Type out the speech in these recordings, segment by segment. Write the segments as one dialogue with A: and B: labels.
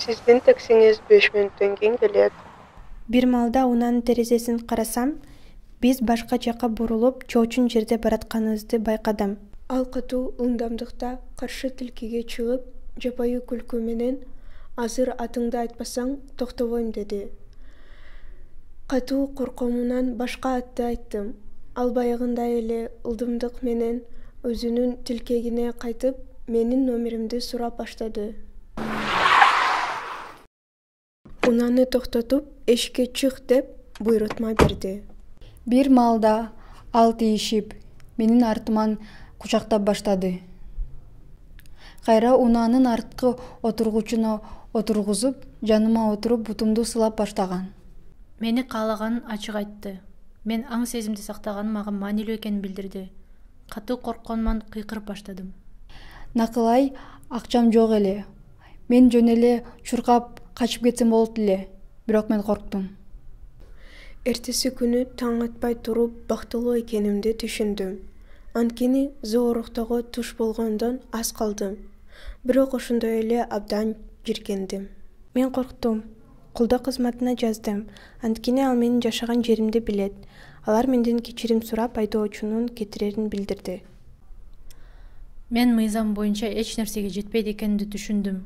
A: Сиздин таксиңиз 5 мүнөттөн кийин келет.
B: Бир маалда унаанын терезесин карасам, биз башка жака бурулуп, чоочун жерде баратканыбызды байкадым. Ал катуу ылдамдыкта каршы тилкеге чыгып, жапайы күлкү менен "Азыр атыңды айтпасаң, токтобойм" деди. Катуу коркуумдан башка атты айттым. Ал баягындай эле ылдымдык менен өзүнүн тилкегине кайтып, менин номеримди сурап баштады. Унааны токтотуп, эшикке чык деп буйрутма берди.
C: Бир маалда ал тийишип, менин артыман кучактап баштады. Кайра унаанын арткы отургучуна отургузуп, жаныма отуруп, бутумду сылап баштаган.
D: Мени каалаганын ачык айтты. Мен аң сезимди сактаганым мага маанилүү экенин билдирди. Катуу коркконуман кыйкырып баштадым.
C: Накылай, акчам жок эле. Мен жөн эле чуркап качып кетсем болот эле. Бирок мен корктум.
B: Эртеси күнү таң атпай туруп бактылуу экенимди түшүндүм. Анткени зооруктоого туш болгондон аз калдым. Бирок ошондой эле абдан жиркендим. Мен корктум. Колдоо кызматына жаздым. Анткени ал менин жашаган жеримди билет. Алар менден кечирим сурап, айдоочунун кетирерин билдирди.
D: Мен мыйзам боюнча эч нерсеге жетпейт экенимди түшүндүм.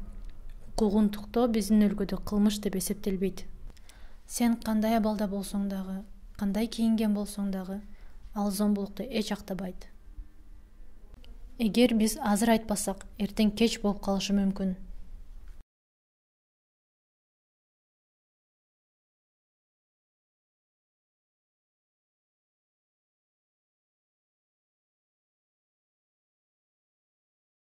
D: Куугунтуктоо биздин өлкөдө кылмыш деп эсептелбейт. Сен кандай абалда болсоң дагы, кандай кийинген болсоң дагы, ал зомбулукту эч актабайт. Эгер биз азыр айтпасак, эртең кеч болуп калышы мүмкүн.